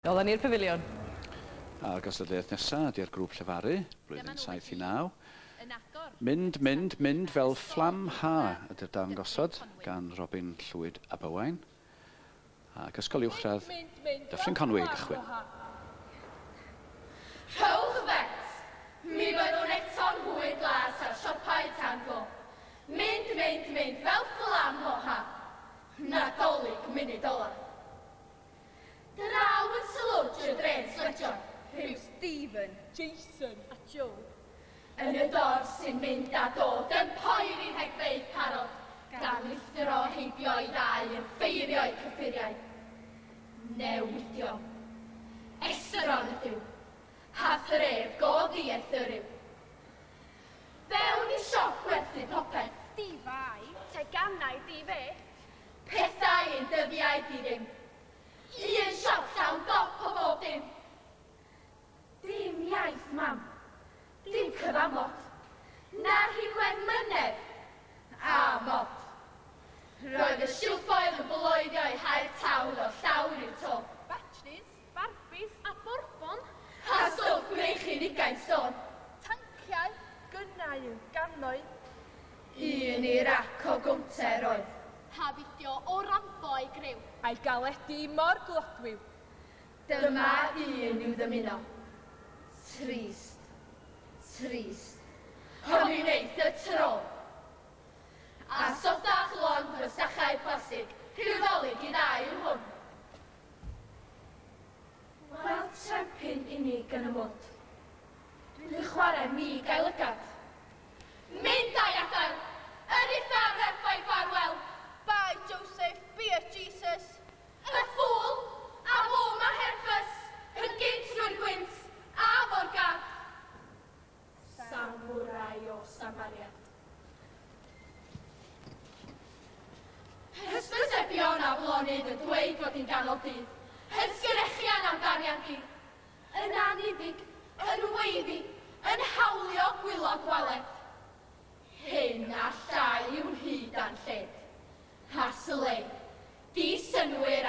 Nôl â ni'r pafiliwn. A'r gystadleuaeth nesaf ydy'r grŵp llefaru, blwyddyn 7 i 9. Mynd, mynd, mynd fel fflam ha ydy'r darn gosod gan Robin Llwyd Aberwain. Ac Ysgol Uwchradd Dyffryn Conwy i gychwyn. Rhowch fet! Mi fyddwn eto'n hwy glas ar siopau tan glo. Mynd, mynd, mynd fel fflam o ha. Nadolig munud ola. Draw yn slwtsh y dre'n sletio. Rhyw Stephen, Jason a Joe. Yn y dorf sy'n mynd a dod yn poeri rhegfeydd parod, gan lithro heibio i ddau yn ffeirio'u cyffuriau. Newidio. Esron ydyw. Ha thref go ddieithr yw. Fewn i siop gwerthu popeth. Difai, teganau di-fe. Pethau yn dyddiau di ddim. Un siop llawn dop o bob dim. Dim iaith, mam. Dim cyfamod. Na rhinwedd mynedd. A mod. Roedd y silffoedd yn bloeddio eu hair tawl o'r llawr i'r to. Batris, Barbies a Bourbon. A stwff gwreichyn 20 stôn. Tanciau, gynnau yn gannoedd. Un i'r ac o gownter oedd. Ha fideo o Rambo a'i griw. A'i galedu mor glodwiw. Dyma un i'w ddymuno. Trist. Trist. Ond mi wneith y tro. A sothach lond fy plastig, rhyw ddolig i ddau yw hwn. Wel, trempyn unig yn y mwd. Dwi'n chwarae mi gael lygad. Mynd a'i adael! Yn uffar effaith ffarwel! Bye Joseph, be a Jesus. Y ffŵl, a fwm a herffys, yn gynt trwy'r gwynt, a fo'r gad. Samurai o Samaria. Hysbysebion a flonydd yn dweud fod hi'n ganol dydd. Hysgyrechian am darian di. Yn aniddig, yn weiddi, yn hawlio gwylod gwaled. Hyn a llai yw'n hyd a'n lled. A slei, di synwyr.